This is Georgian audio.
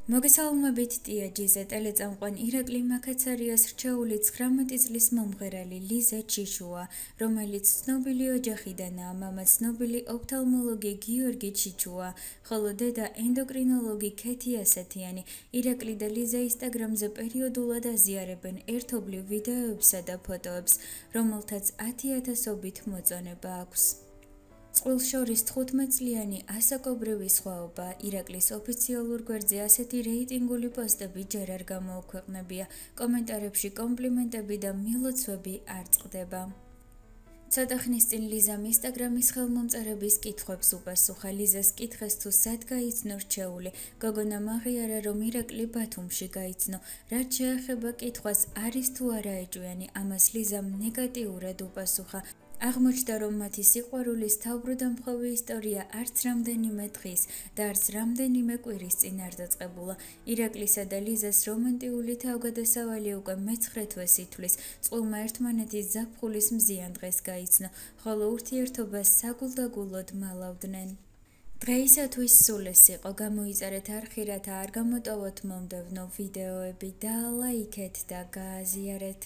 მოგესალმებით ტიაჯიზე ტელეწამყვან ირაკლი მაქაცარიას რჩეული 19 წლის მომღერალი ლიზა ჩიშუა, რომელიც ცნობილი ოჯახიდანაა, მამა ცნობილი ოფთალმოლოგი გიორგი ჩიჩუა, ხოლო დედა ენდოკრინოლოგი ქეთი ასათიანი. ირაკლი და ლიზა ინსტაგრამზე პერიოდულად აზიარებენ ერთობლივ ვიდეოებსა და ფოტოებს, რომელთაც 10,000-ობით მოწონება აქვს. წყვილს შორის 15 წლიანი ასაკობრივი სხვაობა. ირაკლის ოფიციალურ გვერდზე ასეთი რეიტინგული პოსტები ჯერ არ გამოუქვეყნებია, კომენტარებში კომპლიმენტები და მილოცვები არ წყდება. ცოტა ხნის წინ ლიზამ ინსტაგრამის ხელმომწერების კითხვებს უპასუხა. ლიზას კითხეს თუ სად გაიცნო რჩეული, გოგონამ აღიარა, რომ ირაკლი ბათუმში გაიცნო. რაც შეეხება კითხვას, არის თუ არა ეჭვიანი, ამას ლიზამ ნეგატიურად უპასუხა. აღმოჩნდა, რომ მათი სიყვარულის თავბრუდამხვევი ისტორია არც რამდენიმე დღის და არც რამდენიმე კვირის წინ არ დაწყებულა. ირაკლისა და ლიზას რომანტიული თავგადასავალი უკვე მე-9 თვეს ითვლის. წყვილმა ერთმანეთის ზაფხულის მზიან დღეს გაიცნო, ხოლო ურთიერთობა საგულდაგულოდ მალავდნენ. დღეისათვის სულ ეს იყო. გამოიწერეთ არხი, რათა არ გამოტოვოთ მომდევნო ვიდეოები და ლაიქეთ და გააზიარეთ.